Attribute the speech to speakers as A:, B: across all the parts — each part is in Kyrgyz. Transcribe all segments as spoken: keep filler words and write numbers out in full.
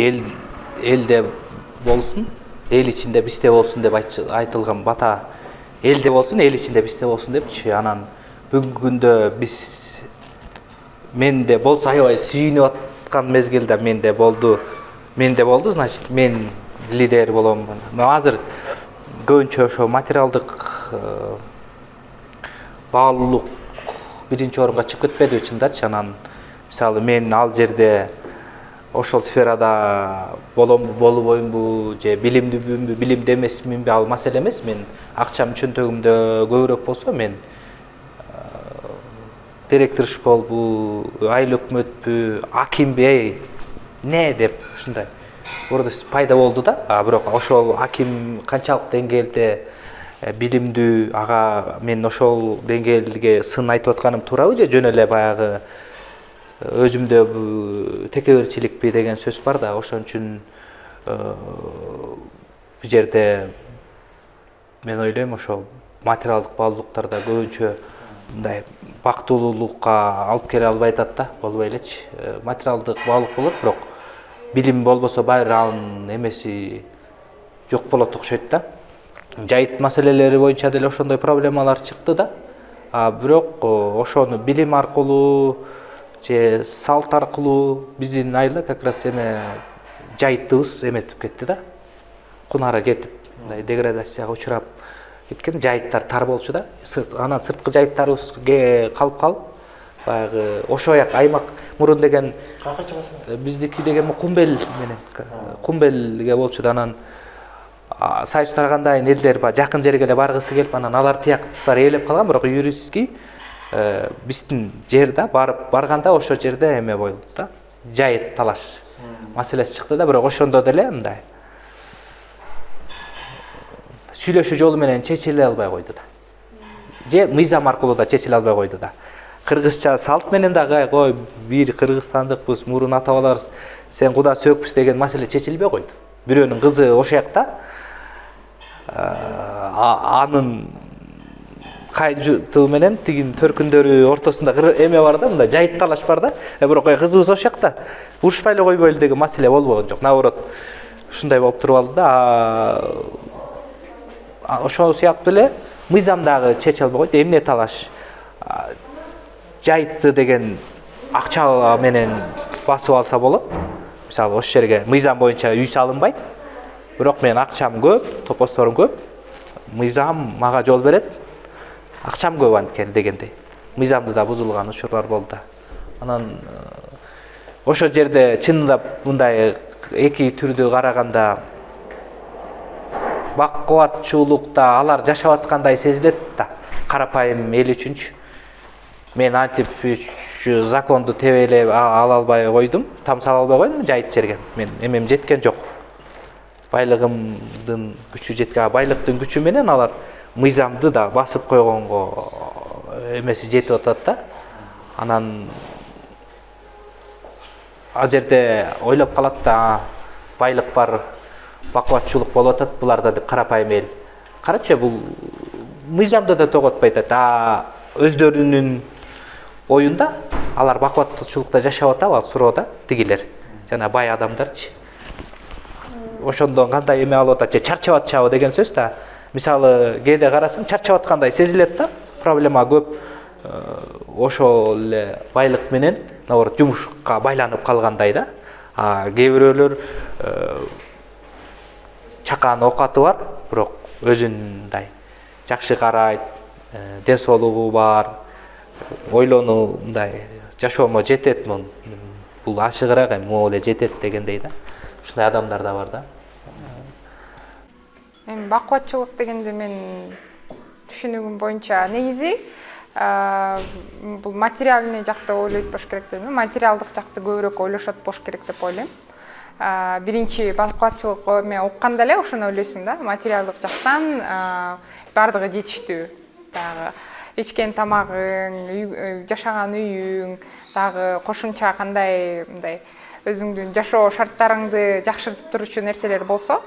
A: эл элде болсун, эл ичинде бизде болсун деп айтылган бата элде болсун, эл ичинде бизде болсун депчи. Анан бүгүнкү күндө биз менде болсо аябай сүйүнүп аткан мезгилде менде болду. Менде болду, значит, мен лидер болом. Но азыр көбүнчө ошо материалдык баалуулук биринчи орунга чыгып кетпедиби чындачы. Анан мисалы мен ал жерде ошол сферада боломбу, болбоймбу, же билимдүүмбү, билимди эмесминби, ал маселе эмес. Мен акчам чөнтөгүмдө көбүрөөк болсо, мен директор школбу, айыл өкмөтпү, акимби, эй, не деп ушундай урдус пайда болду да. А бирок ошол аким канчалык деңгээлде билимдүү, ага мен ошол деңгээлге сын айтып атканым туурабы, же жөн эле баягы өзүмдө текеберчиликпи деген сөз бар да. Ошон үчүн бул жерде мен ойлойм, ошол материалдык баалуулуктарда көбүнчө мындай бактылуулукка алып келе албай атат да, болбой элечи. Материалдык баалуулук болот, бирок билим болбосо баары анын эмеси жок болот окшойт да. Жайыт маселелери боюнча деле ошондой проблемалар чыкты да. А бирок ошону билим аркылуу же салт аркылуу биздин айылда как раз эме жайытыбыз эметип кетти да. Кунары кетип, мындай деградацияга учурап кеткен, жайыттар тар болчу да. Анан сырткы жайыттарыбызга калып калып, баягы ошояк аймак мурун деген
B: каяка чыгасың?
A: Биздики деген Кумбел менен Кумбелге болчу да. Анан Союз тарагандайын элдер ба жакын жерге эле баргысы келип, анан алар тияктар ээлеп калган, бирок юридический биздин жерде барып барганда ошо жерде эме болду да. Жайыт талаш маселеси чыкты да, бирок ошондо деле мындай сүйлөшүү жолу менен чечиле албай койду да. Же мыйзам аркылуу да чечиле албай койду да. Кыргызча салт менен дагы кой бир кыргызстандыкпыз, мурун ата бабаларыбыз сен куда сөкпүз деген маселе чечилбей койду. Бирөөнүн кызы ошол жакта, анын кайынжуту менен тигин төркүндөрү ортосунда эме бар да, мындай жайыт талаш бар да. Бирок кызыбыз ошол жакта урушпай эле койбойлу деген маселе болбогон жок. Наоборот, ушундай болуп туруп алды да. Ошол сыяктуу эле мыйзам дагы чече албай койду. Эмне талаш? Жайытты деген акча менен басып алса болот. Мисалы, ошол жерге мыйзам боюнча үй салынбайт. Бирок мен акчам көп, топосторум көп. Мыйзам мага жол берет. Акчам көп анткени дегендей. Мыйзамды да бузулган учурлар болду. Анан ошол жерде чындап мындай эки түрдү караганда бакубатчуулукта алар жашап аткандай сезилет да. Карапайым эл үчүнчү. Мен антип законду тебелеп ала албай койдум, тамсала албай койдум жайыт жерге. Мен эмем жеткен жок. Байлыгымдын күчү жеткен, байлыктын күчү менен алар мыйзамды да басып койгонго эмеси жетип атат да. Анан ал жерде ойлоп калат да, байлык бар, бакубатчуулук болуп атат буларда деп карапайым эл. Карачы, бул мыйзамды да тоготпой атат. А өздөрүнүн оюнда алар бакубатчуулукта жашап атабы, ал суроода тигилер. Жана бай адамдарчы. Ошондон кандай эме алып атат, же чарчап атышабы деген сөз да. Мисалы, кээде карасаң чарчап аткандай сезилет да. Проблема көп. Ошол эле байлык менен, наоборот, жумушка байланып калгандай да. А кээ бирөөлөр чакан оокаты бар, бирок өзүндай жакшы карайт, ден соолугу бар, ойлонуу мындай жашоомо жетет, бул ашыгыраак эми могу эле жетет дегендей да. Ушундай адамдар да бар да.
C: Эми бакубатчылык дегенде мен түшүнүгүм боюнча негизи бул материальный жакты ойлойт болуш керек деп элем. Материалдык жакты көбүрөөк ойлошот болуш керек деп ойлойм. Биринчи бакубатчылык эме укканда эле ошону ойлойсуң да. Материалдык жактан бардыгы жетиштүү. Дагы ичкен тамагың, жашаган үйүң, дагы кошумча кандай мындай өзүңдүн жашоо шарттарыңды жакшыртып турчу нерселер болсо,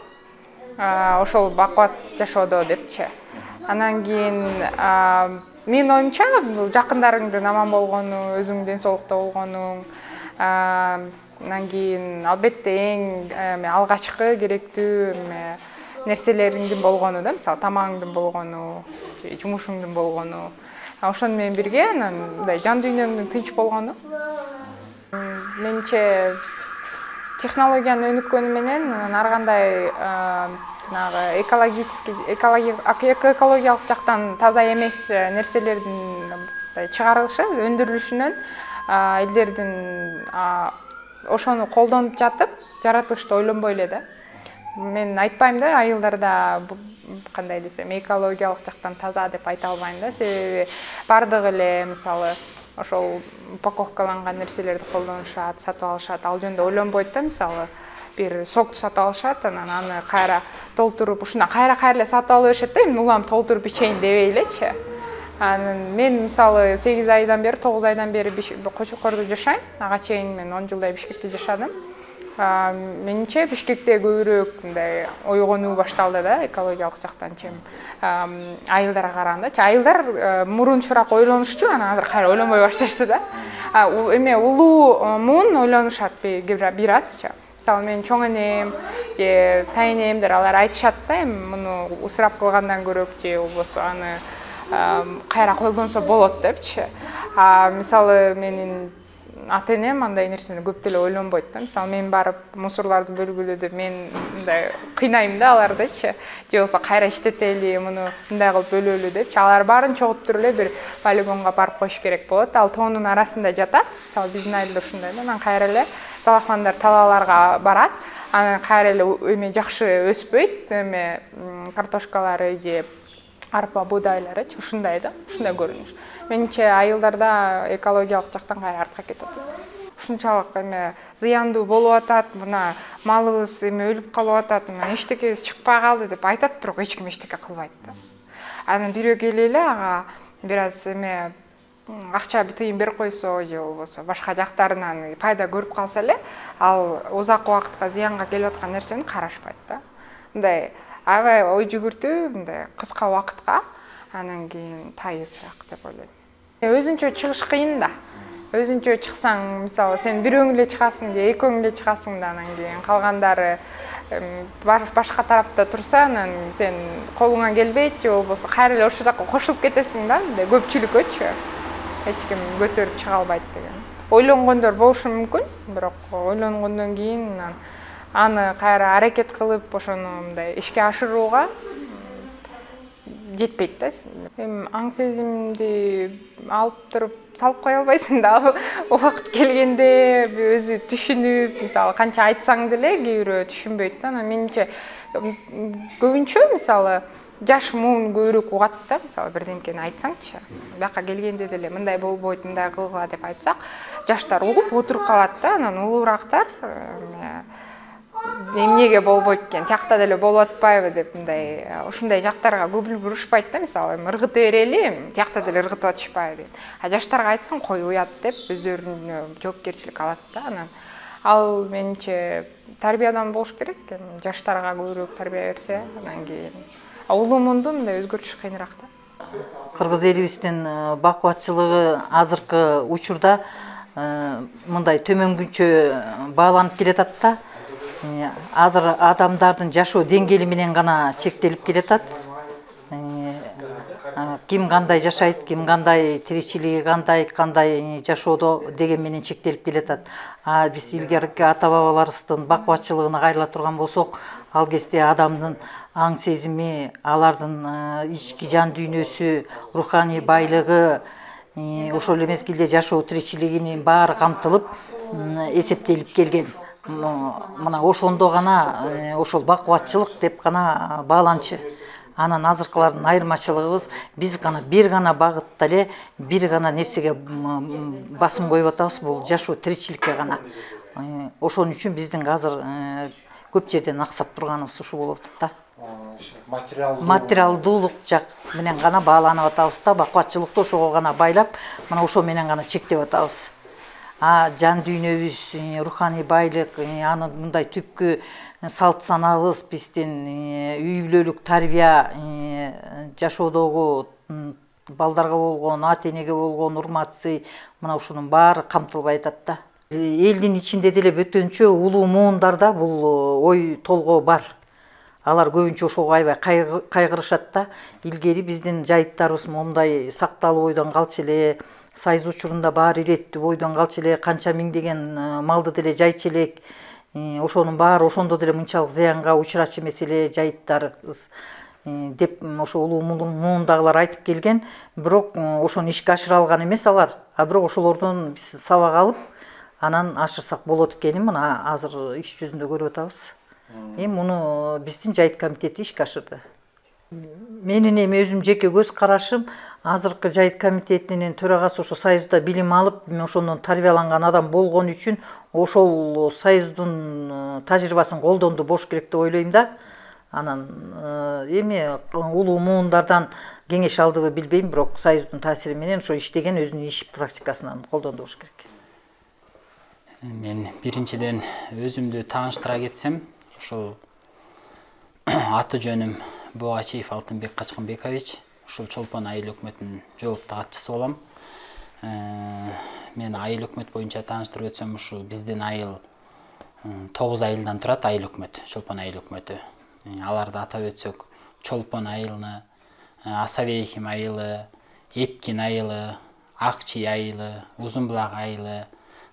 C: ошол бакубат жашоодо депчи. Анан кийин менин оюмча бул жакындарыңдын аман болгону, өзүң ден соолукта болгонуң, Анан кийин албетте эң алгачкы керектүү нерселериңдин болгону да, мисалы тамагыңдын болгону, жумушуңдун болгону. Ошону менен бирге анан мындай жан дүйнөмдүн тынч болгону. Менимче технологияны өнүккөнү менен анан ар кандай жанагы экологический экологиялык жактан таза эмес нерселердин чыгарылышы, өндүрүлүшүнөн элдердин ошону колдонуп жатып, жаратылышты ойлонбой эле да. Мен айтпайм да, айылдарда кандай десем, экологиялык жактан таза деп айта албайм да, себеби бардыгы эле мисалы ошол упаковкаланган нерселерди колдонушат, сатып алышат, ал жөнүндө ойлонбойт да, мисалы бир сокту сатып алышат, анан аны кайра толтуруп, ушундан кайра кайра эле сатып ала беришет да, эми улам толтуруп ичейин дебей элечи. Анан мен мисалы сегиз айдан бери, тогуз айдан бери Кочокордо жашайм. Ага чейин мен он жылдай Бишкекте жашадым. Менимче Бишкекте көбүрөөк мындай ойгонуу башталды да, экологиялык жактан чейин айылдарга караганда. Айылдар мурунчураак ойлонушчу, анан азыр кайра ойлонбой башташты да. Эме улуу муун ойлонушат бир азчы. Мисалы мен чоң энем же тайнемдер алар айтышат да, эми муну ысырап кылгандан көрөк же болбосо аны кайра колдонсо болот депчи. А мисалы менин ата-энем андай нерсени көп деле ойлонбойт да. Мисалы мен барып мусорларды бөлгүлө деп мен мындай кыйнайм да алардычы. Же болсо кайра иштетели, муну мындай кылып бөлөлү депчи. Алар баарын чогултуруп эле бир полигонго барып коюш керек болот. Ал тоонун арасында жатат. Мисалы биздин айылда ушундай да. Анан кайра эле талахмандар талааларга барат. Анан кайра эле эме жакшы өспөйт. Эме картошкалары же арпа буудайлары ушундай да, ушундай көрүнүш. Менимче айылдарда экологиялык жактан кайра артка кетет. Ушунчалык эме зыяндуу болуп атат, мына малыбыз эме өлүп калып атат, мына эчтекебиз чыкпай калды деп айтат, бирок эч ким эчтеке кылбайт да. Анан бирөө келип эле ага бир аз эме акча тыйын берип койсо же болбосо башка жактарынан пайда көрүп калса эле, ал узак убакытка зыянга келип аткан нерсени карашпайт да. Мындай аябай ой жүгүртүү, мындай кыска убакытка анан кийин тайысыраак деп ойлойм. Өзүнчө чыгыш кыйын да. Өзүнчө чыксаң, мисалы сен бирөөң эле чыгасың же экөөң эле чыгасың да, анан кийин калгандары башка тарапта турса, анан сен колуңан келбейт же болбосо кайра эле ошол жака кошулуп кетесиң да, мындай көпчүлүккөчү. Эч ким көтөрүп чыга албайт деген. Ойлонгондор болушу мүмкүн, бирок ойлонгондон кийин аны кайра аракет кылып ошону мындай ишке ашырууга жетпейт да. Эми аң сезимди алып туруп салып кое албайсың да. Убакыт келгенде өзү түшүнүп, мисалы канча айтсаң деле кээ бирөө түшүнбөйт да. Менимче көбүнчө мисалы жаш муун көбүрөөк угат да. Мисалы бирдемкени айтсаңчы, бияка келгенде деле мындай болбойт, мындай кылгыла деп айтсак, жаштар угуп отуруп калат да. Анан улуурактар эмнеге болбойт экен, тиякта деле болуп атпайбы деп мындай ушундай жактарга көбүл бурушпайт да. Мисалы ыргыта берели, тиякта деле ыргытып атышпайбы дейт. А жаштарга айтсаң кой уят деп өздөрүнө жоопкерчилик алат да. Анан ал менимче тарбиядан болуш керек. Жаштарга көбүрөөк тарбия берсе, анан кийин улуу муунду мындай өзгөртүш кыйыныраак да.
B: Кыргыз элибиздин бакубатчылыгы азыркы учурда мындай төмөнгүчө бааланып келатат да. Азыр адамдардын жашоо деңгээли менен гана чектелип келатат. Ким кандай жашайт, ким кандай тиричилиги кандай, кандай жашоодо деген менен чектелип келатат. А биз илгерки ата-бабаларыбыздын бакубатчылыгына кайрыла турган болсок, ал кезде адамдын аң сезими, алардын ички жан дүйнөсү, руханий байлыгы, ошол эле мезгилде жашоо тиричилигинин баары камтылып, эсептелип келген. Мына ошондо гана ошол бакубатчылык деп гана бааланчы. Анан азыркылардын айырмачылыгыбыз биз гана бир гана багытта эле бир гана нерсеге басым коюп атабыз, бул жашоо тиричиликке гана. Ошон үчүн биздин азыр көп жерден аксап турганыбыз ушу болуп атат да. Материалдуулук жак менен гана бааланып атабыз да, бакубатчылыкты ошого гана байлап, мына ошо менен гана чектеп атабыз. А жан дүйнөбүз, руханий байлык, анын мындай түпкү салт санабыз, биздин үй бүлөлүк тарбия, жашоодогу балдарга болгон, ата-энеге болгон урмат сый, мына ушунун баары камтылбай атат да. Элдин ичинде деле бөтөнчө улуу муундарда бул ой толгоо бар. Алар көбүнчө ошого аябай кайгырышат да. Илгери биздин жайыттарыбыз момундай сакталуу бойдон калчу эле, Сайыз учурунда баары иреттүү бойдон калчу эле, канча миңдеген малды деле жайчу элек. Ошонун баары ошондо деле мынчалык зыянга учурачу эмес эле жайыттарыбыз деп ошо улуу муундагылар айтып келген. Бирок ошону ишке ашыра алган эмес алар. А бирок ошолордон биз сабак алып, анан ашырсак болот экенин мына азыр иш жүзүндө көрүп атабыз. Эми муну биздин жайыт комитети ишке ашырды. Менин эми өзүм жеке көз карашым, азыркы жайыт комитетинин төрагасы ошо Союзда билим алып, ошондон тарбияланган адам болгон үчүн ошол Союздун тажрыйбасын колдонду болуш керек деп ойлойм да. Анан эми улуу муундардан кеңеш алдыбы билбейм, бирок Союздун таасири менен ошо иштеген өзүнүн иш практикасынан колдонду болуш керек.
D: Мен биринчиден өзүмдү тааныштыра кетсем, ошол аты жөнүм Бугачиев Алтынбек Качкынбекович, ушул Чолпон айыл өкмөтүнүн жоопту катчысы болом. Мен айыл өкмөт боюнча тааныштырып өтсөм, ушул биздин айыл тогуз айылдан турат, айыл өкмөт, Чолпон айыл өкмөтү. Аларды атап өтсөк, Чолпон айылы, Асабейким айылы, Эпкин айылы, Акчий айылы, Узунбулак айылы,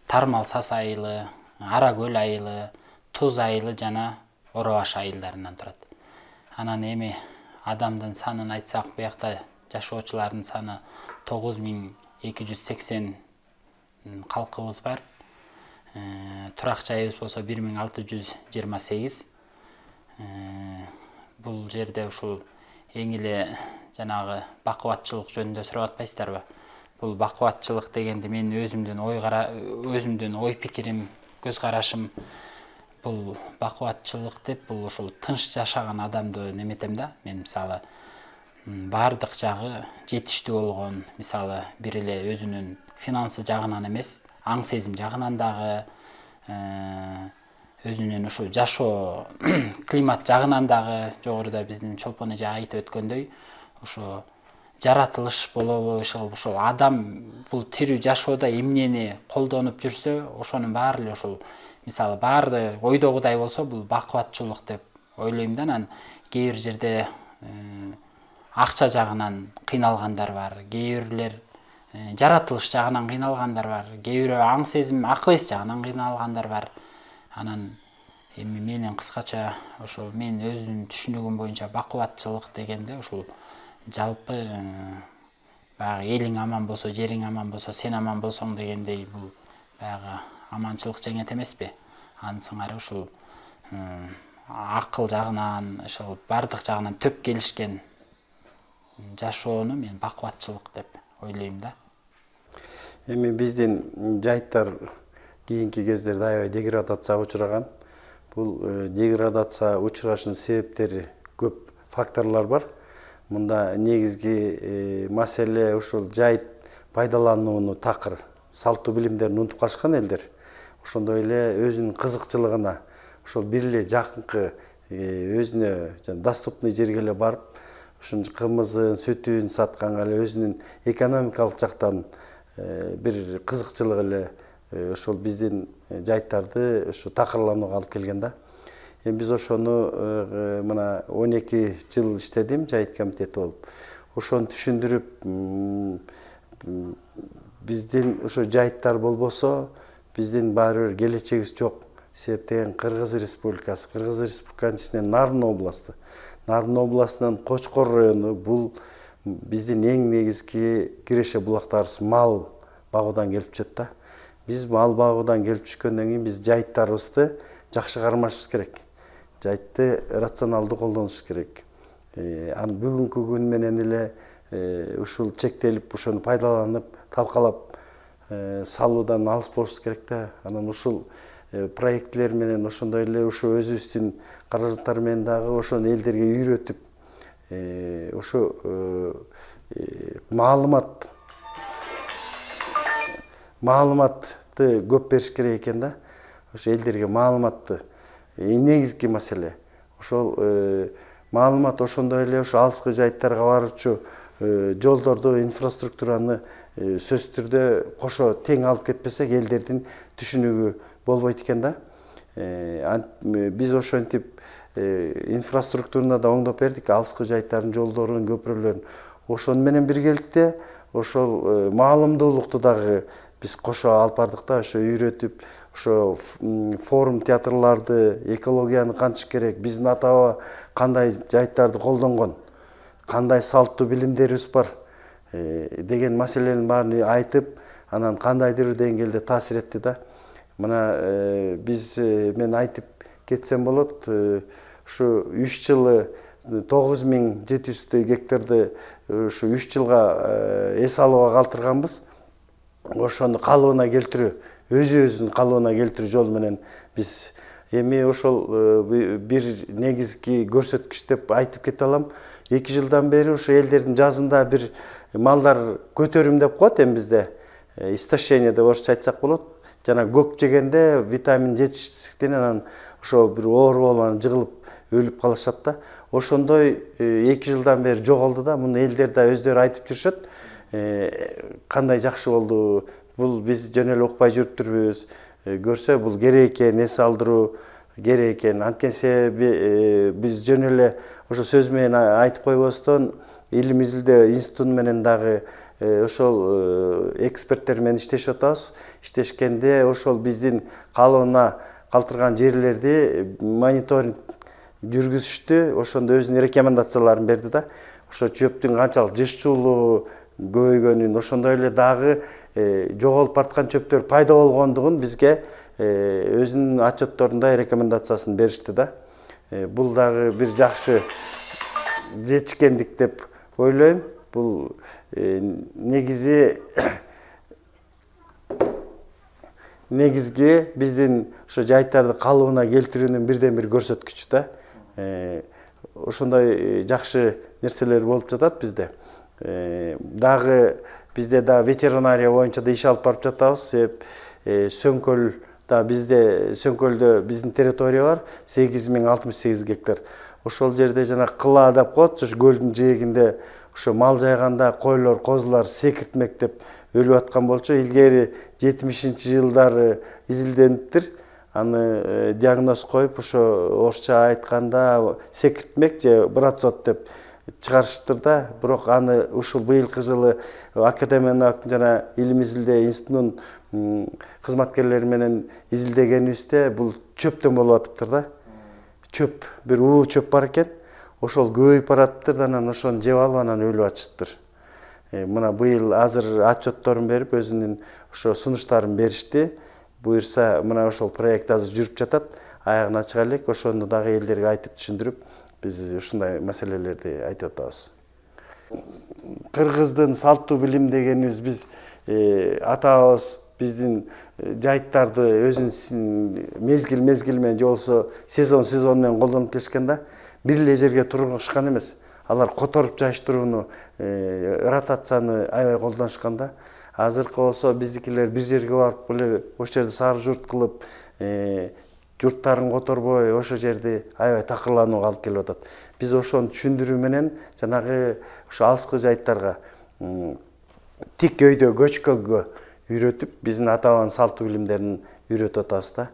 D: Тармал Сас айылы, Аракөл айылы, Туз айылы жана Оробаш айылдарынан турат. Анан эми адамдын санын айтсак, буякта жашоочулардын саны тогуз миң эки жүз сексен калкыбыз бар. Турак жайыбыз болсо бир миң алты жүз жыйырма сегиз. Бул жерде ушул эң эле жанагы бакубатчылык жөнүндө сурап атпайсыздарбы? Бул бакубатчылык дегенди мен өзүмдүн ой өзүмдүн ой пикирим, көз карашым, бул бакубатчылык деп бул ушул тынч жашаган адамды неметем да. Мен мисалы баардык жагы жетиштүү болгон, мисалы бир эле өзүнүн финансы жагынан эмес, аң сезим жагынан дагы, өзүнүн ушул жашоо климат жагынан дагы жогоруда биздин Чолпон эже айтып өткөндөй, ошо жаратылыш болобу, ошол адам бул тирүү жашоодо эмнени колдонуп жүрсө, ошонун баары эле ошол мисалы баарды ойдогудай болсо, бул бакубатчылык деп ойлойм да. Анан кээ бир жерде акча жагынан кыйналгандар бар, кээ бирлер жаратылыш жагынан кыйналгандар бар, кээ бирөө аң сезим, акыл эс жагынан кыйналгандар бар. Анан эми менин кыскача ошол мен өзүмдүн түшүнүгүм боюнча бакубатчылык дегенде ушул жалпы баягы элиң аман болсо, жериң аман болсо, сен аман болсоң дегендей, бул баягы аманчылык жеңет эмеспи? Анын сыңары ушул акыл жагынан, ошол бардык жагынан төп келишкен жашоону мен бакубатчылык деп ойлойм да.
E: Эми биздин жайыттар кийинки кездерде аябай деградацияга учураган. Бул деградация учурашынын себептери көп факторлор бар. Мында негизги маселе ушул жайыт пайдаланууну такыр, салттуу билимдерин унутуп калышкан элдер. Ошондой эле өзүнүн кызыкчылыгына, ошол бир эле жакынкы өзүнө доступный жерге эле барып, ушун кымызын, сүтүн сатканга эле өзүнүн экономикалык жактан бир кызыкчылыгы эле ошол биздин жайыттарды ушу такырланууга алып келген да. Эми биз ошону мына он эки жыл иштедим жайыт комитети болуп. Ошону түшүндүрүп, биздин ошо жайыттар болбосо биздин баары бир келечегибиз жок. Себеп деген Кыргыз Республикасы, Кыргыз Республиканын ичинен Нарын областы. Нарын областынын Кочкор району бул биздин эң негизги киреше булактарыбыз мал багуудан келип түшөт да. Биз мал багуудан келип түшкөндөн кийин биз жайыттарыбызды жакшы кармашыбыз керек. Жайытты рационалдуу колдонуш керек. Аны бүгүнкү күн менен эле ушул чектелип, ошону пайдаланып, талкалап салуудан алыс болушубуз керек да. Анан ушул проектлер менен ошондой эле ушу өзүбүздүн каражаттар менен дагы ошону элдерге үйрөтүп, ошо маалымат маалыматты көп бериш керек экен да. Ошо элдерге маалыматты негизги маселе. Ошол маалымат ошондой эле ошо алыскы жайыттарга баруучу жолдорду, инфраструктураны сөзсүз түрдө кошо тең алып кетпесек элдердин түшүнүгү болбойт экен да. Биз ошентип инфраструктураны да оңдоп бердик, алыскы жайттардын жолдорун, көпүрөлөрүн. Ошону менен биргеликте ошол маалымдуулукту дагы биз кошо алып бардык да, ошо үйрөтүп, ошо форум театрларды, экологияны кантыш керек, биздин ата-баба кандай жайттарды колдонгон, кандай салттуу билимдерибиз бар деген маселенин баарын айтып, анан кандайдыр деңгээлде таасир этти да. Мына биз мен айтып кетсем болот, ушу үч жылы тогуз миң жети жүздөй гектарды ушу үч жылга эс алууга калтырганбыз. Ошону калыбына келтирүү, өзү-өзүн калыбына келтирүү жолу менен биз эми ошол бир негизги көрсөткүч деп айтып кете алам. эки жылдан бери ушу элдердин жазында бир малдар көтөрүм деп коет эми бизде. Истощение деп орусча айтсак болот. Жана көк жегенде витамин жетишсиздиктен анан ошо бир оору болуп анан жыгылып өлүп калышат да. Ошондой эки жылдан бери жоголду да. Муну элдер да өздөрү айтып жүрүшөт. Кандай жакшы болду. Бул биз жөн эле укпай жүрүптүрбүз. Көрсө бул керек экен, эс алдыруу керек экен. Анткени себеби биз жөн эле ошо сөз менен айтып койбостон илим изилдөө институту менен дагы ошол эксперттер менен иштешип атабыз. Иштешкенде ошол биздин калыбына калтырган жерлерди мониторинг жүргүзүштү. Ошондо өзүнүн рекомендацияларын берди да. Ошо чөптүн канчалык жыштуулугу көбөйгөнүн, ошондой эле дагы жоголуп бараткан чөптөр пайда болгондугун бизге өзүнүн отчетторунда рекомендациясын беришти да. Бул дагы бир жакшы жетишкендик деп ойлойм. Бул негизи негизги биздин ошо жайттарды калыбына келтирүүнүн бирден бир көрсөткүчү да. Ошондой жакшы нерселер болуп жатат бизде. Дагы бизде да ветеринария боюнча да иш алып барып жатабыз. Себеп Сөңкөл да бизде Сөңкөлдө биздин территория бар, сегиз миң алтымыш сегиз гектар. Ошол жерде жана кыла деп коет, ошо көлдүн жээгинде ошо мал жайганда койлор, козулар секиртмек деп өлүп аткан болчу. Илгери жетимишинчи жылдары изилдениптир. Аны диагноз коюп, ошо орусча айтканда секиртмек же брацот деп чыгарышыптыр да. Бирок аны ушул быйылкы жылы академиянын жана илим изилдөө институтунун кызматкерлери менен изилдегенибизде бул чөптөн болуп атыптыр да. Чөп, бир уу чөп бар экен. Ошол көбөйүп баратыптыр, анан ошону жеп алып анан өлүп атышыптыр. Мына быйыл азыр отчетторун берип, өзүнүн ошо сунуштарын беришти. Буюрса, мына ошол проект азыр жүрүп жатат. Аягына чыга элек, ошону дагы элдерге айтып түшүндүрүп, биз ушундай маселелерди айтып атабыз. Кыргыздын салттуу билим дегенибиз биз ата-бабабыз биздин жайттарды өзүнүн мезгил мезгил менен же болбосо сезон сезон менен колдонуп келишкен да. Бир эле жерге тургушкан эмес. Алар которуп жайыштырууну, ротацияны аябай колдонушкан да. Азыркы болсо биздикилер бир жерге барып эле ошол жерде сары журт кылып, журттарын которбой, ошол жерди аябай такырланууга алып келип атат. Биз ошону түшүндүрүү менен жанагы ошо алыскы жайттарга тик өйдө көчкөнгө үйрөтүп, биздин ата-бабанын салттуу билимдерин үйрөтүп атабыз да.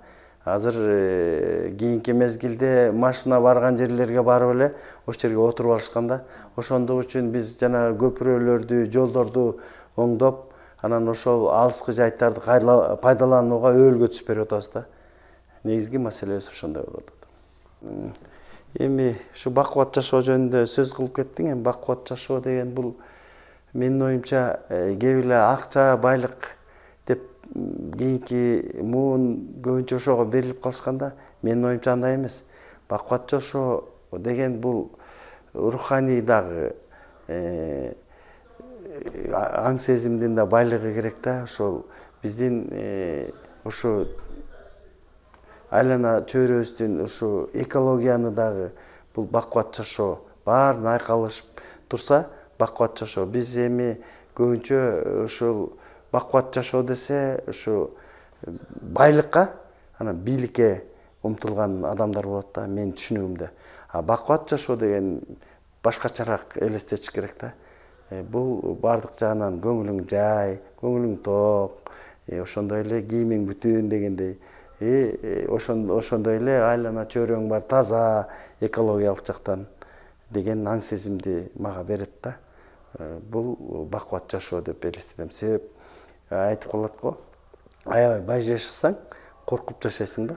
E: Азыр кийинки мезгилде машина барган жерлерге барып эле ошол жерге отуруп алышкан да. Ошондук үчүн биз жана көпүрөлөрдү, жолдорду оңдоп, анан ошол алыскы жайттарды пайдаланууга өбөлгө түсүп берип атабыз да. Негизги маселебиз ошондой болуп атат. Эми ушу бакубат жашоо жөнүндө сөз кылып кеттиң. Эми бакубат жашоо деген бул менин оюмча кээ эле акча, байлык деп кийинки муун көбүнчө ошого берилип калышканда, менин оюмча андай эмес. Бакубат жашоо деген бул руханий дагы аң сезимдин да байлыгы керек да. Ошол биздин ушу айлана чөйрөбүздүн ушу экологияны дагы бул бакубат жашоо баарын айкалышып турса, бакубат жашоо. Биз эми көбүнчө ушул бакубат жашоо десе, ушу байлыкка, анан бийликке умтулган адамдар болот да, менин түшүнүгүмдө. А бакубат жашоо деген башкачараак элестетиш керек да. бул бардык жагынан көңүлүң жай, көңүлүң ток, ошондой эле кийимиң бүтүн дегендей, ошондой эле айлана чөйрөң бар, таза, экологиялык жактан деген аң сезимди мага берет да. Бул бакубат жашоо деп элестетем. Себеп айтып калат го, аябай бай жашасаң, коркуп жашайсың да.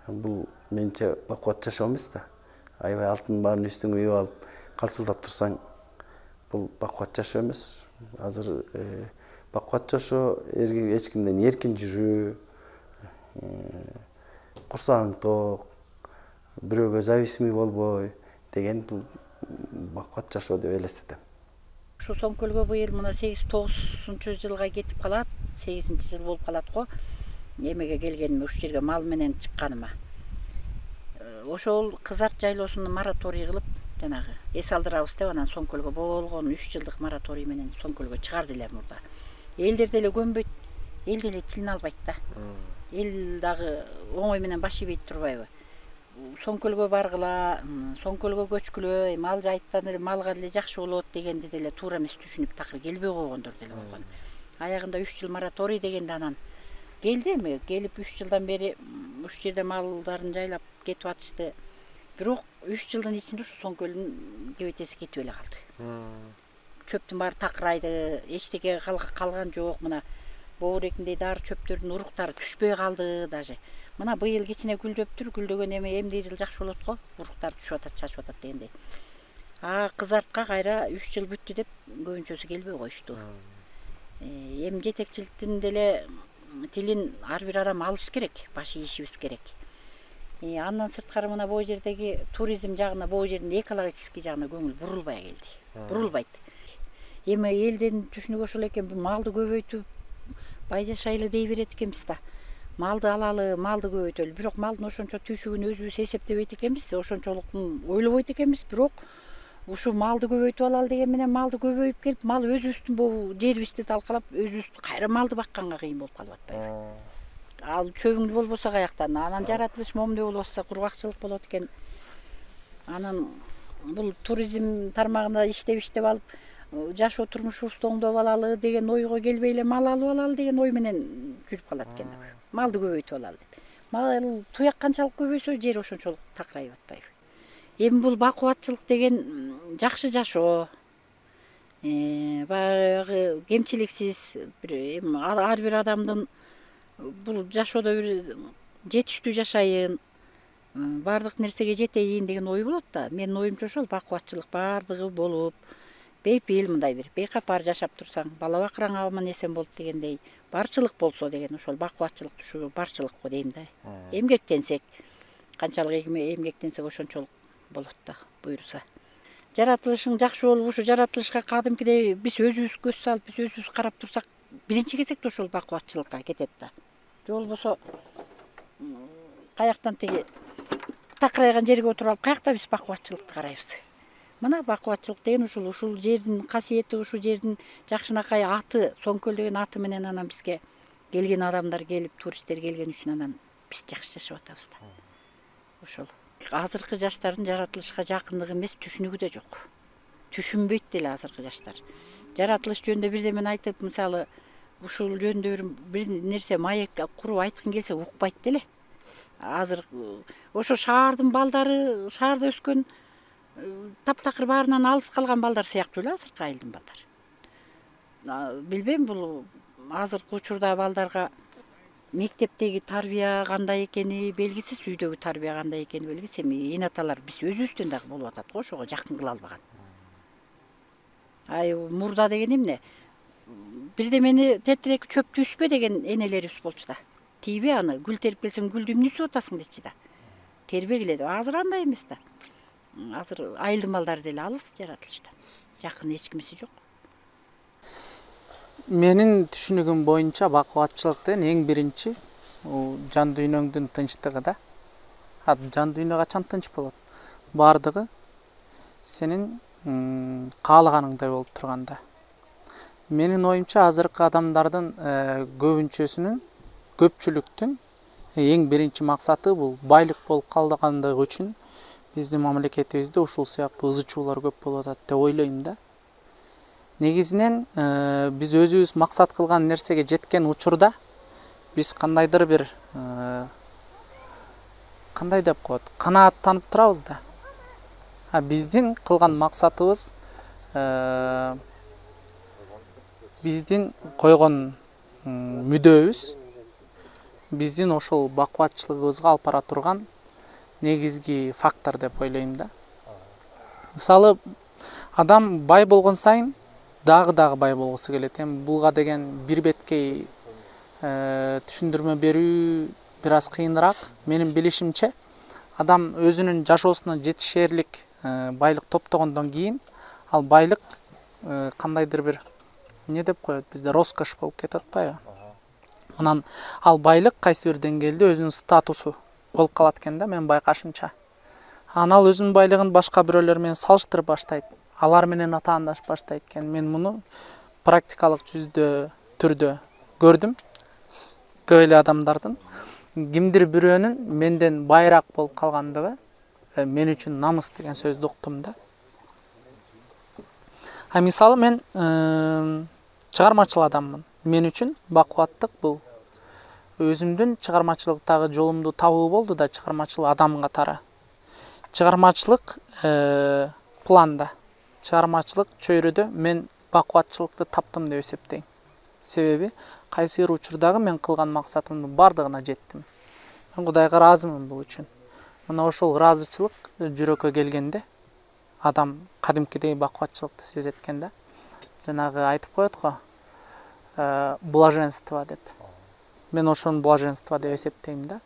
E: Бул менче бакубат жашоо эмес да. Аябай алтын баарын үстүңө үйүп алып, калчылдап турсаң, бул бакубат жашоо эмес. Азыр бакубат жашоо эч кимден эркин жүрүү, курсагың ток, бирөөгө зависимый болбой деген бул бакубат жашоо деп элестетем.
B: Ушу Соңкөлгө быйыл мына сегиз тогузунчу жылга кетип калат, сегизинчи жыл болуп калат го. Эмеге келгениме, ушул жерге мал менен чыкканыма. Ошол Кызарт жайлоосуну мораторий кылып, жанагы эс алдырабыз деп анан Соңкөлгө болгон үч жылдык мораторий менен Соңкөлгө чыгарды эле мурда. Элдер деле көнбөйт, эл деле тилин албайт да. Эл дагы оңой менен баш ийбейт турбайбы? Соңкөлгө баргыла, Соңкөлгө көчкүлө, мал жайыттан эле малга деле жакшы болот дегенди деле туура эмес түшүнүп такыр келбей койгондор деле болгон. Аягында үч жыл мораторий дегенде анан келди эми, келип үч жылдан бери ушул жерде малдарын жайлап кетип атышты. Бирок үч жылдын ичинде ушу Соңкөлдүн кебетеси кетип эле калды. Чөптүн баары такырайды, эчтеке калган жок. Мына боорекиндей дары чөптөрдүн уруктары түшпөй калды даже. Мына быйыл кичине гүлдөптүр, гүлдөгөн эми эмне жыл жакшы болот го, уруктар түшүп атат, чачып атат дегендей. А Кызартка кайра үч жыл бүттү деп көбүнчөсү келбей коюшту. Эми жетекчиликтин деле тилин ар бир адам алыш керек, баш ийишибиз керек. Андан сырткары мына бул жердеги туризм жагына, бул жердин экологический жагына көңүл бурулбай келди. Бурулбайт. Эми элдин түшүнүгү ошол экен, бул малды көбөйтүп, бай жашайлы дей берет экенбиз да. Малды алалы, малды көбөйтөлү. Бирок малдын ошончо түшүгүн өзүбүз эсептебейт экенбиз, ошончолуктун ойлобойт экенбиз. Бирок ушу малды көбөйтүп алалы деген менен малды көбөйүп келип, мал өзүбүздүн бул жерибизди талкалап, өзүбүз кайра малды бакканга кыйын болуп калып атпайбы. Ал чөбүң болбосо каяктан, анан жаратылыш момундай болуп атса кургакчылык болот экен. Анан бул туризм тармагында иштеп иштеп алып, жашоо турмушубузду оңдоп алалы деген ойго келбей эле мал алып алалы деген ой менен жүрүп калат экен. Малды көбөйтүп алалы деп. Мал туяк канчалык көбөйсө, жер ошончолук такырайып атпайбы. Эми бул бакубатчылык деген жакшы жашоо. Баягы кемчиликсиз эми ар бир адамдын бул жашоодо бир жетиштүү жашайын, баардык нерсеге жетейин деген ой болот да. Менин оюмча ошол бакубатчылык баардыгы болуп, бейпил мындай бир бейкапар жашап турсаң, бала бакыраң аман эсен болуп дегендей, барчылык болсо деген ошол бакубатчылык түшүгү барчылык го дейм да. Эмгектенсек, канчалык эмгектенсек ошончолук болот да, буйруса. Жаратылышың жакшы болуп, ушу жаратылышка кадимкидей биз өзүбүз көз салып, биз өзүбүз карап турсак, биринчи кезекте ошол бакубатчылыкка кетет да. Же болбосо каяктан тиги такырайган жерге отуруп алып, каякта биз бакубатчылыкты карайбыз. Мына бакубатчылык деген ушул, ушул жердин касиети, ушул жердин жакшынакай аты, Соңкөл деген аты менен анан бизге келген адамдар келип, туристтер келген үчүн анан биз жакшы жашап атабыз да. Ошол. Азыркы жаштардын жаратылышка жакындыгы эмес, түшүнүгү да жок. Түшүнбөйт деле азыркы жаштар. Жаратылыш жөнүндө бирдемени айтып, мисалы, ушул жөнүндө бир нерсе маек куруп айткың келсе укпайт деле. Азыр ошо шаардын балдары, шаарда өскөн таптакыр баарынан алыс калган балдар сыяктуу эле азыркы айылдын балдары. Билбейм, бул азыркы учурда балдарга мектептеги тарбия кандай экени белгисиз, үйдөгү тарбия кандай экени белгисиз. Эми эне аталар биз өзүбүздөн дагы болуп атат го, ошого жакын кыла албаган. Ай мурда деген эмне? Бирдемени тетирек чөптү үспө деген энелерибиз болчу да. Тийбе аны, гүл терип келсең гүлдү эмне үсүп атасың дейчи да. Тербегиле деп. Азыр андай эмес да. Азыр айылдын балдары деле алыс жаратылыштан. Жакын эч кимиси жок.
D: Менин түшүнүгүм боюнча бакубатчылыктын эң биринчи жан дүйнөңдүн тынчтыгы да. Жан дүйнө качан тынч болот? Бардыгы сенин каалаганыңдай болуп турганда. Менин оюмча азыркы адамдардын көбүнчөсүнүн, көпчүлүктүн эң биринчи максаты бул байлык болуп калгандыгы үчүн биздин мамлекетибизде ушул сыяктуу ызы чуулар көп болуп атат деп ойлойм да.
F: негизинен биз өзүбүз максат кылган нерсеге жеткен учурда биз кандайдыр бир кандай деп коет, канааттанып турабыз да. А биздин кылган максатыбыз биздин койгон мүдөбүз биздин ошол бакубатчылыгыбызга алып бара турган негизги фактор деп ойлойм да. Мисалы, адам бай болгон сайын дагы дагы бай болгусу келет. Эми буга деген бир беткей түшүндүрмө берүү бир аз кыйыныраак. Менин билишимче, адам өзүнүн жашоосуна жетишерлик байлык топтогондон кийин ал байлык кандайдыр бир не деп коет бизде, роскош болуп кетип атпайбы? Анан ал байлык кайсы бир деңгээлде өзүнүн статусу болуп калат экен да, менин байкашымча. Анан ал өзүнүн байлыгын башка бирөөлөр менен салыштырып баштайт. Алар менен атаандашып баштайт экен. Мен муну практикалык жүздө түрдө көрдүм. Көп эле адамдардын кимдир бирөөнүн менден байыраак болуп калгандыгы мен үчүн намыс деген сөздү уктум да. А мисалы, мен чыгармачыл адаммын. Мен үчүн бакубаттык бул өзүмдүн чыгармачылыктагы жолумду табуу болду да, чыгармачыл адам катары. Чыгармачылык планда, чыгармачылык чөйрөдө мен бакубатчылыкты таптым деп эсептейм. Себеби кайсы бир учурдагы мен кылган максатымдын бардыгына жеттим. Мен Кудайга ыраазымын бул үчүн. Мына ошол ыраазычылык жүрөккө келгенде адам кадимкидей бакубатчылыкты сезет экен да. Жанагы айтып коет го, блаженство деп. Мен ошону блаженство деп эсептейм да.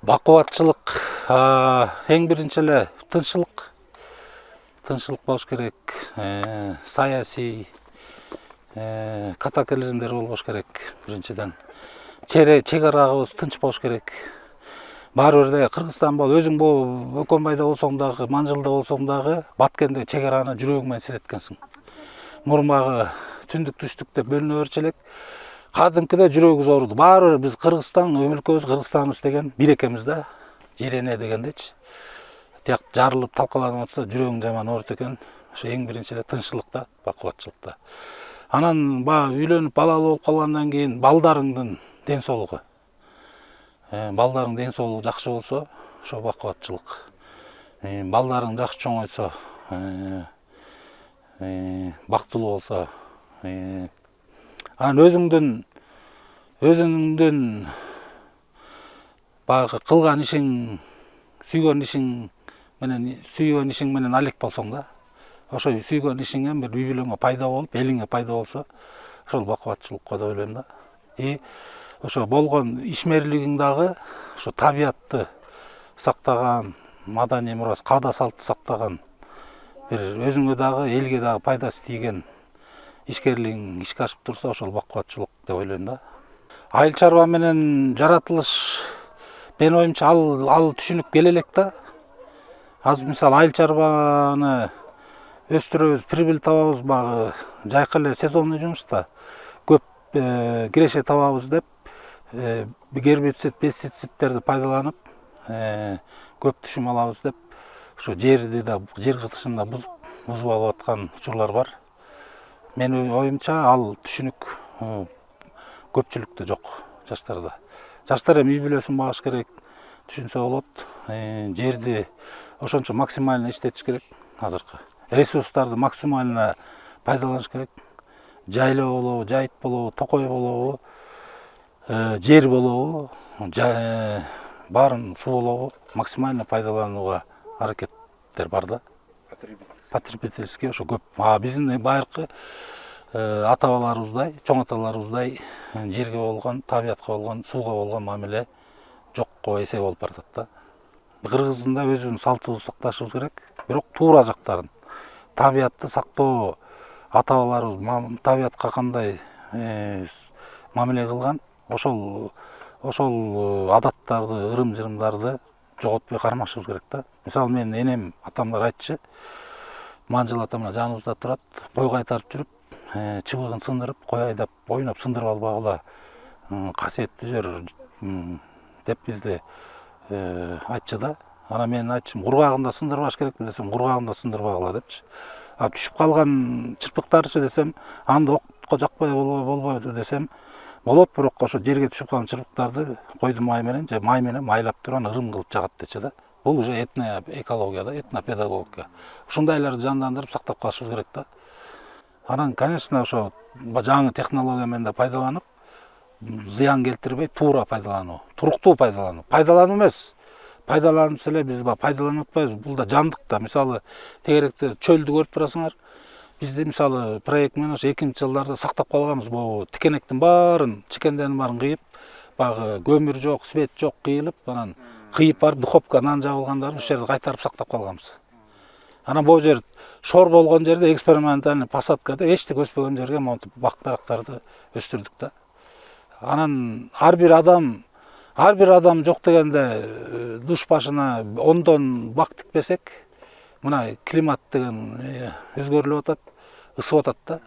G: Бакубатчылык эң биринчи эле тынччылык. Тынччылык болуш керек. Саясий катаклизмдер болбош керек биринчиден. Чек арагыбыз тынч болуш керек. Баары бир да Кыргызстан бол, өзүң бул Өкөнбайда болсоң дагы, Манжылда болсоң дагы, Баткенде чек араны жүрөгүң менен сезет экенсиң. Мурмагы түндүк түштүк деп бөлүнө берчү элек. Кадимкиде жүрөгүбүз ооруду. Баары бир биз Кыргызстан, өлкөбүз Кыргызстанбыз деген бир экенбиз да. Жирене дегендечи. Тияк жарылып талкаланып атса, жүрөгүң жаман ооруйт экен. Ошо эң биринчи эле тынччылыкта, бакубатчылыкта. Анан баягы үйлөнүп балалуу болуп калгандан кийин балдарыңдын ден соолугу. Балдарың ден соолугу жакшы болсо, ошо бакубатчылык. Балдарың жакшы чоңойсо, бактылуу болсо, анан өзүңдүн өзүңдүн баягы кылган ишиң, сүйгөн ишиң менен сүйгөн ишиң менен алек болсоң да, ошо сүйгөн ишиңе бир үй бүлөңө пайда болуп, элиңе пайда болсо, ошол бакубатчылыкка деп ойлойм да. И ошо болгон ишмерлигиң дагы ошо табиятты сактаган, маданий мурас, каада салтты сактаган, бир өзүңө дагы, элге дагы пайдасы тийген ишкерлигиң ишке ашып турса, ошол бакубатчылык деп ойлойм да. Айыл чарба менен жаратылыш, менин оюмча ал ал түшүнүк келе элек да. Азыр мисалы айыл чарбаны өстүрөбүз, прибыль табабыз, багы жайкы эле сезонный жумушта көп киреше табабыз деп гербицид, пестицидтерди пайдаланып көп түшүм алабыз деп ошо жерди да, жер кытышын да бузуп бузуп алып аткан учурлар бар. Менин оюмча ал түшүнүк көпчүлүктө жок жаштарда. Жаштар эми үй бүлөсүн багыш керек, түшүнсө болот. Жерди ошончо максимально иштетиш керек азыркы. Ресурстарды максимально пайдаланыш керек. Жайлоо болобу, жайыт болобу, токой болобу, жер болобу, баарын суу болобу максимально пайдаланууга аракеттер бар да. Потребительский ошо көп. А биздин байыркы ата-бабаларыбыздай, чоң аталарыбыздай жерге болгон, табиятка болгон, сууга болгон мамиле жокко эсеп болуп баратат да. Кыргыздын да өзүнүн салтыбызды сакташыбыз керек. Бирок туура жактарын, табиятты сактоо, ата-бабаларыбыз табиятка кандай мамиле кылган, ошол ошол адаттарды, ырым-жырымдарды жоготпой кармашыбыз керек да. Мисалы менин энем, атамдар айтчы, Манжыл атам жаныбызда турат, кой кайтарып жүрүп, чыбыгын сындырып, кой айдап, ойноп сындырып албагыла касиеттүү жер деп бизде айтчы да. Анан мен айтчым, кургагында сындырбаш керекпи десем, кургагында сындырбагыла депчи. А түшүп калган чырпыктарчы десем, анда окко жакпай болбойбу десем, болот, бирок ошо жерге түшүп калган чырпыктарды койдун май менен же май менен майлап туруп аны ырым кылып жагат дечи да. Бул уже этно экология да, этно педагогика. Ушундайларды жандандырып сактап калышыбыз керек да. Анан, конечно, ошо жаңы технология менен да пайдаланып, зыян келтирбей туура пайдалануу, туруктуу пайдалануу. Пайдалануу эмес. Пайдаланып эле биз пайдаланып атпайбыз. Бул да жандык да. Мисалы, тегеректе чөлдү көрүп турасыңар. Бизде мисалы проект менен ошо экинчи жылдарда сактап калганбыз. Бул тикенектин баарын, чикендердин баарын кыйып, баягы көмүр жок, свет жок кыйылып, анан кыйып барып духовка нан жабылгандарын ушул жерде кайтарып сактап калганбыз. Анан бул жер шор болгон жерде экспериментальный посадка деп эчтек өспөгөн жерге монтип бак дарактарды өстүрдүк да. Анан ар бир адам ар бир адам жок дегенде душ башына ондон бак тикпесек, мына климат деген өзгөрүлүп атат, ысып атат да.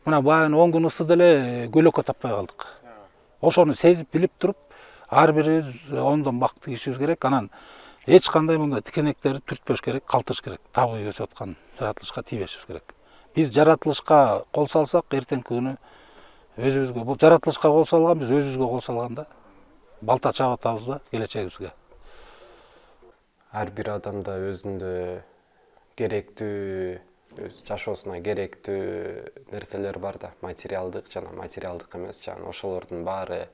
G: Мына баягы он күн ысыды эле көлөккө таппай калдык. Ошону сезип билип туруп, ар бирибиз ондон бак тигишибиз керек. Анан эч кандай мындай тикенектерди түртпөш керек, калтырыш керек. Табыйы өсүп аткан жаратылышка тийбешибиз керек. Биз жаратылышка кол салсак, эртеңки күнү өзүбүзгө, бул жаратылышка кол салган, биз өзүбүзгө кол салганда балта чаап атабыз да келечегибизге.
H: Ар бир адамда өзүндө керектүү, өз жашоосуна керектүү нерселер бар да, материалдык жана материалдык эмес, жана ошолордун баары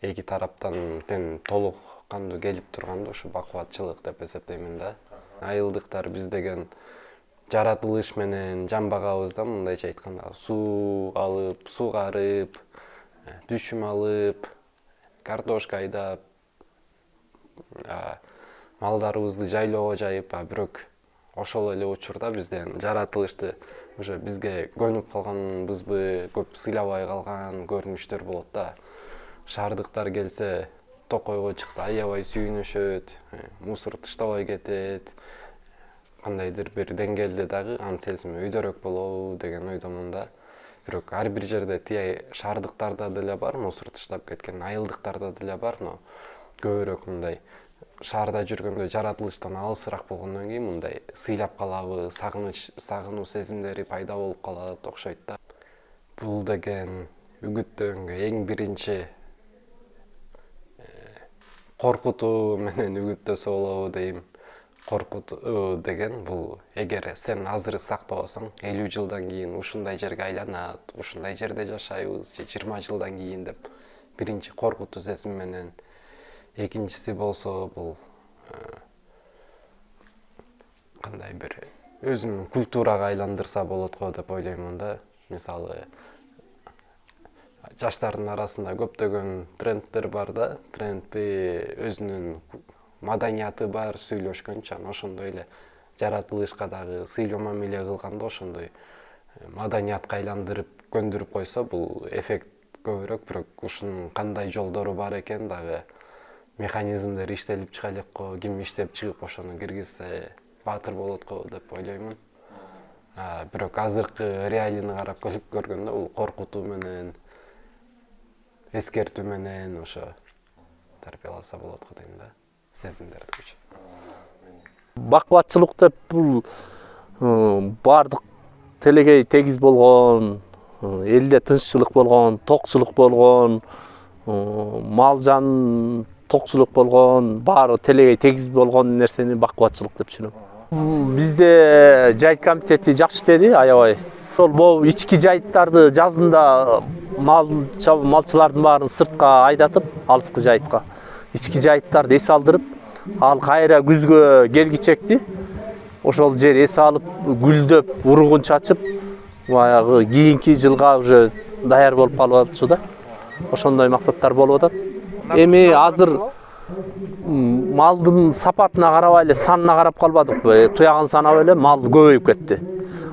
H: эки тараптан тең толук кандуу келип турганда ушу бакубатчылык деп эсептеймин да. Айылдыктар биз деген жаратылыш менен жамбагабыз да, мындайча айтканда, суу алып, сугарып, түшүм алып, картошка айдап, малдарыбызды жайлоого жайып, а бирок ошол эле учурда бизден жаратылышты уже бизге көнүп калганбызбы, көп сыйлабай калган көрүнүштөр болот да. Шаардыктар келсе, токойго чыкса аябай сүйүнүшөт, мусор таштабай кетет, кандайдыр бир деңгээлде дагы анын сезими өйдөрөөк болобу деген ойдомун да. Бирок ар бир жерде тие шаардыктарда деле бар, мусор таштап кеткен, айылдыктарда деле бар, но көбүрөөк мындай шаарда жүргөндө жаратылыштан алысыраак болгондон кийин мындай сыйлап калабы, сагыныч, сагынуу сезимдери пайда болуп калат окшойт да. Бул деген үгүттөнгө эң биринчи коркутуу менен үгүттөсө болобу дейм. Коркутуу деген бул эгер сен азыр сактабасаң, элүү жылдан кийин ушундай жерге айланат, ушундай жерде жашайбыз, же жыйырма жылдан кийин деп биринчи коркутуу сезим менен. Экинчиси болсо бул кандай бир өзүнүн культурага айландырса болот го деп ойлоймун да. Мисалы, жаштардын арасында көптөгөн трендтер бар да, трендби өзүнүн маданияты бар, сүйлөшкөнчө, ошондой эле жаратылышка дагы сыйлоо мамиле кылганда ошондой маданиятка айландырып көндүрүп койсо, бул эффект көбүрөөк, бирок ушунун кандай жолдору бар экен дагы, механизмдер иштелип чыга элек го, ким иштеп чыгып ошону киргизсе баатыр болот го деп ойлоймун. Бирок азыркы реалийни карап көргөндө бул коркутуу менен, эскертүү менен ошо тарбияласа болот го дейм да, сезимдерди күч.
A: Бакубатчылык деп бул баардык телегей тегиз болгон, элде тынччылык болгон, токчулук болгон, мал жан токчулук болгон, баары телегей тегиз болгон нерсени бакубатчылык деп түшүнөм. Бизде жайыт комитети жакшы иштеди, аябай. Ошол могу ички жайыттарды жазында мал малчылардын баарын сыртка айдатып, алыскы жайытка, ички жайыттарды эс алдырып, ал кайра күзгө келгичекти ошол жер эс алып, гүлдөп, уругун чачып, баягы кийинки жылга уже даяр болуп калып атчу да. Ошондой максаттар болуп атат. Эми азыр малдын сапатына карабай эле, санына карап калбадыкпы, туягын санап эле мал көбөйүп кетти.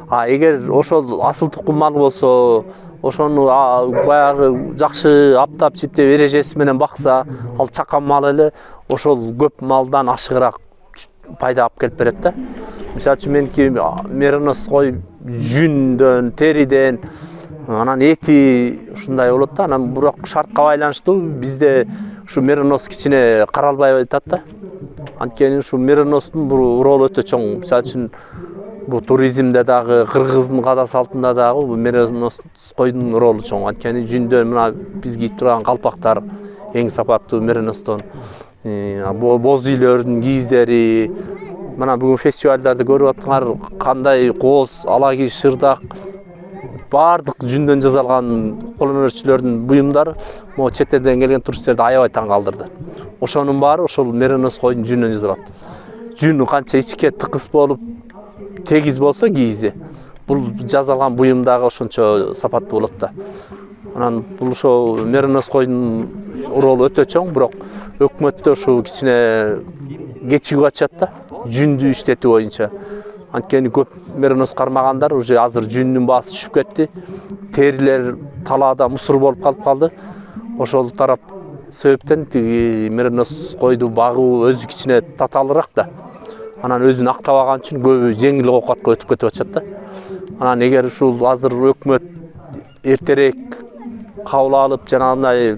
A: А эгер ошол асыл тукум мал болсо, ошону баягы жакшы аптап чиптеп эрежеси менен бакса, ал чакан мал эле ошол көп малдан ашыгыраак пайда алып келип берет да. Мисалы үчүн меники меринос кой жүндөн, териден, анан эти ушундай болот да. Анан бирок шартка байланыштуу бизде ушу меринос кичине каралбай атат да. Анткени ушу мериностун бул ролу өтө чоң. Мисалы үчүн бул туризмде дагы, кыргыздын када салтында дагы бул меринос койдун ролу чоң. Анткени жүндө мына биз кийип турган калпактар эң сапаттуу мериностон. Боз үйлөрдүн кийиздери, мына бүгүн фестивалдарды көрүп атсаңар, кандай кооз, алаги, шырдак баардык жүндөн жасалган кол өнөрчүлөрдүн буюмдары могу чет элден келген туристтерди аябай таң калтырды. Ошонун баары ошол меринос койдун жүнүнөн жасалат. Жүнү канча ичке тыкыс болуп, тегиз болсо кийизи, бул жасалган буюм дагы ошончо сапаттуу болот да. Анан бул ошо меринос койдун ролу өтө чоң, бирок өкмөттө ушу кичине кечигип атышат да, жүндү иштетүү боюнча. Анткени көп меринос кармагандар уже азыр жүндүн баасы түшүп кетти. Терилер талаада мусор болуп калып калды. Ошол тарап себептен тиги меринос койду багуу өзү кичине татаалыраак да. Анан өзүн актабаган үчүн көбү жеңил оокатка өтүп кетип атышат да. Анан эгер ушул азыр өкмөт эртерээк кабыл алып, жанагындай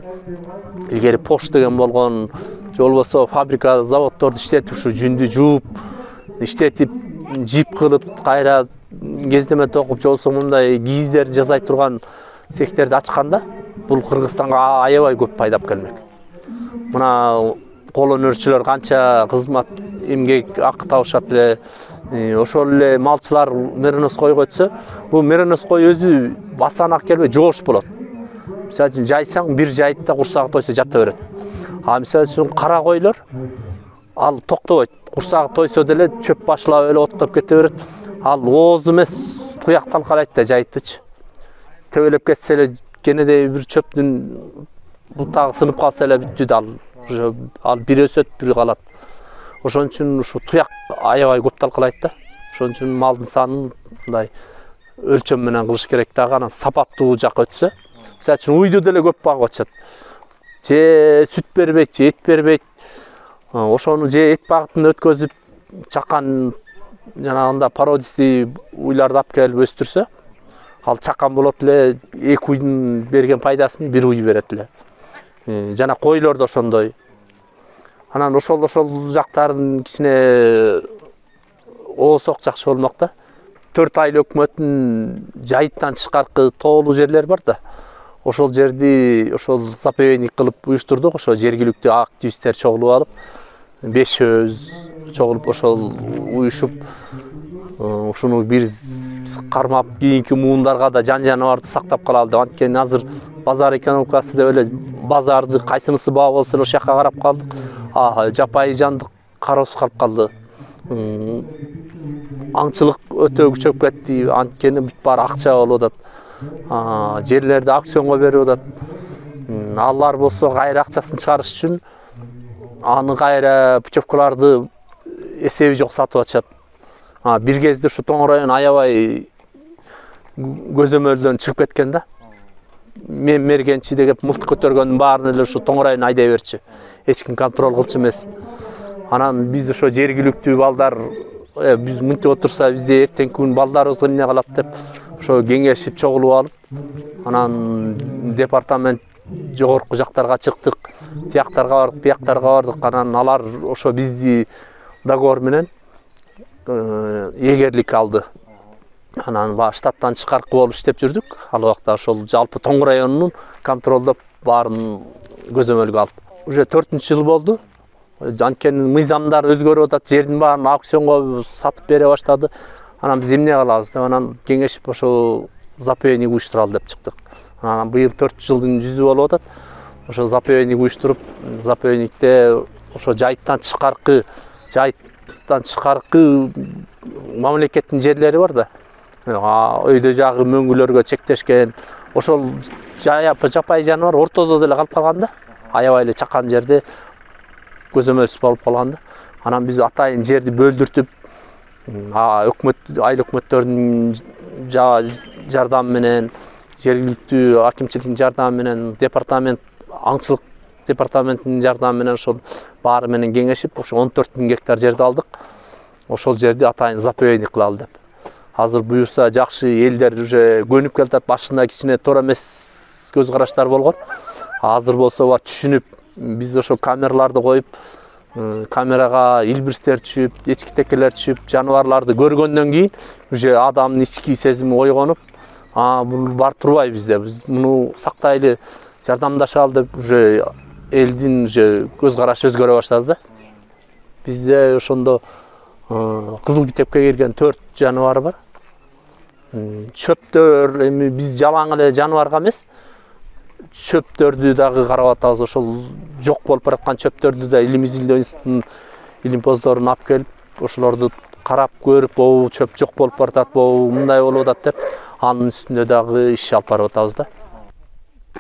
A: илгери пош деген болгон, же болбосо фабрика, заводдорду иштетип ушу жүндү жууп, иштетип, жип кылып, кайра кездеме токуп, же болбосо мындай кийиздерди жасай турган цехтерди ачканда, бул Кыргызстанга аябай көп пайдап келмек. Мына кол өнөрчүлөр канча кызмат, эмгек акы табышат эле. Ошол эле малчылар меринос койго өтсө, бул меринос кой өзү басанак келбей жоош болот. Мисалы үчүн жайсаң, бир жайытта курсагы тойсо жата берет. А мисалы үчүн кара койлор ал токтобойт. Курсагы тойсо деле чөп башылап эле оттоп кете берет. Ал ооз эмес, туяк талкалайт да жайыттычы. Тебелеп кетсе эле кенедей бир чөптүн бутагы сынып калса эле бүттү да, ал ал бир өсөт, бир калат. Ошон үчүн ушу туяк аябай көп талкалайт да. Ошон үчүн малдын санын мындай өлчөм менен кылыш керек дагы, анан сапаттуу жакка өтсө. Мисалы үчүн уйду деле көп багып атышат. Же сүт бербейт, же эт бербейт. Ошону же эт багытын өткөзүп, чакан жанагында породистый уйларды алып келип өстүрсө, ал чакан болот эле, эки уйдун берген пайдасын бир уй берет эле. Жана койлор да ошондой. Анан ошол ошол жактарын кичине оосок жакшы болмок да. төрт айлы өкмөттүн жайыттан тышкаркы тоолуу жерлер бар да. Ошол жерди ошол заповедник кылып уюштурдук. Ошо жергиликтүү активисттер чогулуп алып, бешөөз чогулуп ошол уюшуп, ушуну бир кармап, кийинки муундарга да жан жаныбарды сактап калалы деп. Анткени азыр базар экономикасы деп эле базарды кайсынысы баа болсо эле ошол жака карап калдык. А жапайы жандык кароосуз калып калды. Аңчылык өтө күчөп кетти. Анткени бүт баары акча болуп атат. Жерлерди аукционго берип атат. Алар болсо кайра акчасын чыгарыш үчүн аны кайра путевкаларды эсеби жок сатып атышат. Бир кезде ушу Тоң район аябай көзөмөлдөн чыгып кеткен да. Мен мергенчи деп мылтык көтөргөндүн баарын эле ушу Тоң район айдай берчү. Эч ким контроль кылчу эмес. Анан биз ошо жергиликтүү балдар, биз мынтип отурса бизде эртеңки күн балдарыбызга эмне калат деп ошо кеңешип чогулуп алып, анан департамент жогорку жактарга чыктык, тияктарга бардык, бияктарга бардык. Анан алар ошо бизди договор менен эгерлик алды. Анан баа штаттан тышкаркы болуп иштеп жүрдүк. Ал убакта ошол жалпы Тоң районунун контролдоп баарын көзөмөлгө алып. Уже төртүнчү жыл болду. Анткени мыйзамдар өзгөрүп атат, жердин баарын аукционго сатып бере баштады. Анан биз эмне кылабыз деп анан кеңешип ошо заповедник уюштуралы деп чыктык. Анан быйыл төрт жылдын жүзү болуп атат. Ошо заповедник уюштуруп, заповедникте ошо жайыттан тышкаркы, жайыттан тышкаркы мамлекеттин жерлери бар да. Өйдө жагы мөңгүлөргө чектешкен. Ошол жапайы жаныбар ортодо деле калып калган да. Аябай эле чакан жерде көзөмөлсүз болуп калган да. Анан биз атайын жерди бөлдүртүп, өкмөт, айыл өкмөттөрдүн жардамы менен, жергиликтүү акимчиликтин жардамы менен, департамент, аңчылык департаментинин жардамы менен ошол баары менен кеңешип, ошо он төрт миң гектар жерди алдык. Ошол жерди атайын заповедник кылалы деп. Азыр буюрса жакшы, элдер уже көнүп келатат. Башында кичине туура эмес көз караштар болгон. Азыр болсо бар түшүнүп, биз ошо камераларды коюп,
I: камерага илбирстер түшүп, эчки текелер түшүп, жаныбарларды көргөндөн кийин уже адамдын ички сезими ойгонуп, а бул бар турбай бизде, биз муну сактайлы, жардамдашалы деп уже элдин уже көз карашы өзгөрө баштады да. Бизде ошондо кызыл китепке кирген төрт жаныбар бар. Чөптөр, эми биз жалаң эле жаныбарга эмес, чөптөрдү дагы карап атабыз. Ошол жок болуп бараткан чөптөрдү да илим изилдөө институтунун илимпоздорун алып келип, ошолорду карап көрүп, о, чөп жок болуп баратат, бу мындай болуп атат деп, анын үстүндө дагы иш алып барып атабыз да.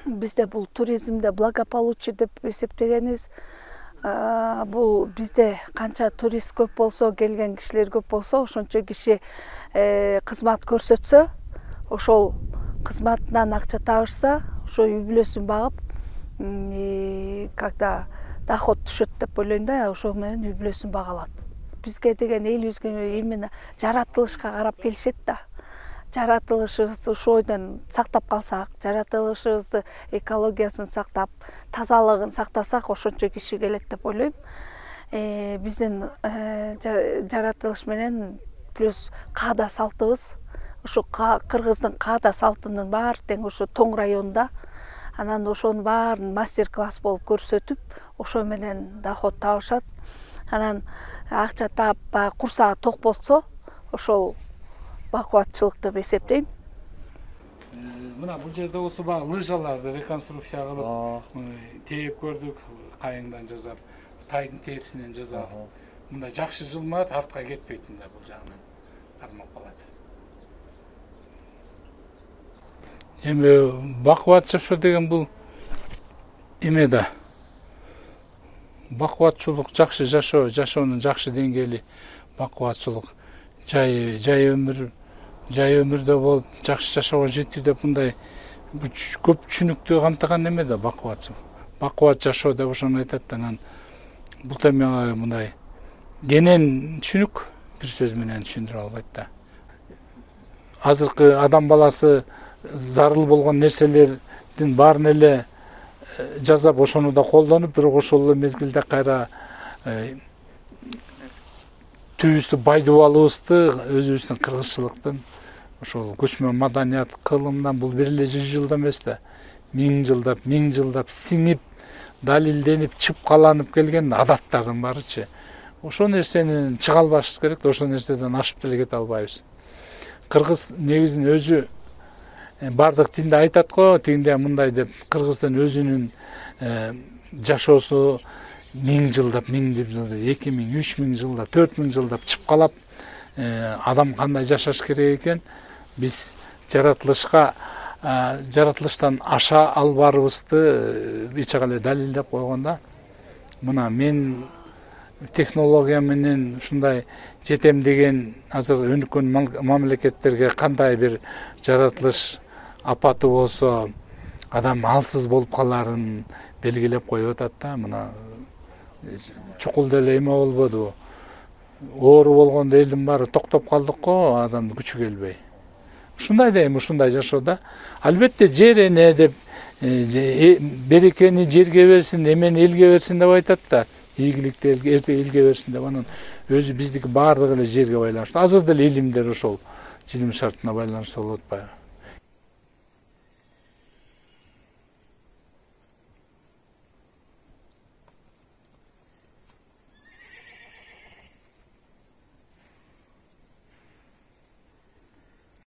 J: Бизде бул туризмде благополучие деп эсептегенибиз. Бул бизде канча турист көп болсо, келген кишилер көп болсо, ошончо киши кызмат көрсөтсө, ошол кызматынан акча табышса, ошо үй бүлөсүн багып, когда доход түшөт деп ойлойм да, ошо менен үй бүлөсүн бага алат. Бизге деген элибизге именно жаратылышка карап келишет да. Жаратылышыбызды ошойдон сактап калсак, жаратылышыбызды экологиясын сактап, тазалыгын сактасак, ошончо киши келет деп ойлойм. Биздин жаратылыш менен плюс каада салтыбыз, ошо кыргыздын каада салтынын баары тең ошо Тоң районунда. Анан ошонун баарын мастер-класс болуп көрсөтүп, ошо менен доход табышат. Анан акча таап, курсагы ток болсо, ошол бакубатчылык деп эсептейм.
G: Мына бул жерде болсо баягы лыжаларды реконструкция кылып, тээп көрдүк, кайыңдан жасап, тайдын терисинен жасап. Мындай жакшы жылмат, артка кетпейт мындай бул жагынан кармап калат. Эми бакубат жашоо деген бул эме да. Бакубатчылык, жакшы жашоо, жашоонун жакшы деңгээли бакубатчылык, жай жай өмүр, жай өмүрдө болуп жакшы жашоого жетүү деп мындай көп түшүнүктү камтыган эме да бакубатчылык. Бакубат жашоо деп ошону айтат. Анан бул темага мындай кенен түшүнүк бир сөз менен түшүндүрө албайт да. Азыркы адам баласы зарыл болгон нерселердин баарын эле жасап, ошону да колдонуп, бирок ошол эле мезгилде кайра түбүбүздү байдуу алыбызды, өзүбүздүн кыргызчылыктын, ошол көчмө маданият, кылымдан бул бир эле жүз жылда эмес да, миң жылдап, миң жылдап сиңип, далилденип, чыпкаланып келген адаттардын баарычы. Ошол нерсени чыга албашыбыз керек, ошол нерседен ашып деле кете албайбыз. Кыргыз негизин өзү бардык тилде айтат го, тигинде мындай деп, кыргыздын өзүнүн жашоосу миң жылдап, миң жылдап, эки миң, үч миң жылдап, төрт миң жылдап чыпкалап, адам кандай жашаш керек экен, биз жаратылышка, жаратылыштан аша албарыбызды эч кандай далилдеп койгондо, мына мен технология менен ушундай жетем деген азыр өнүккөн мамлекеттерге кандай бир жаратылыш апаты болсо, адам алсыз болуп каларын белгилеп коюп атат да. Мына чукул деле эме болбоду, оору болгондо элдин баары токтоп калдык го, адамдын күчү келбей. Ушундай да эми ушундай жашоодо албетте жер эне деп, берекени жерге берсин, эмени элге берсин деп айтат да. Ийгиликти элге берсин деп, анан өзү биздики баардыгы эле жерге байланыштуу. Азыр деле илимдер ошол жилим шартына байланыштуу болуп атпайбы?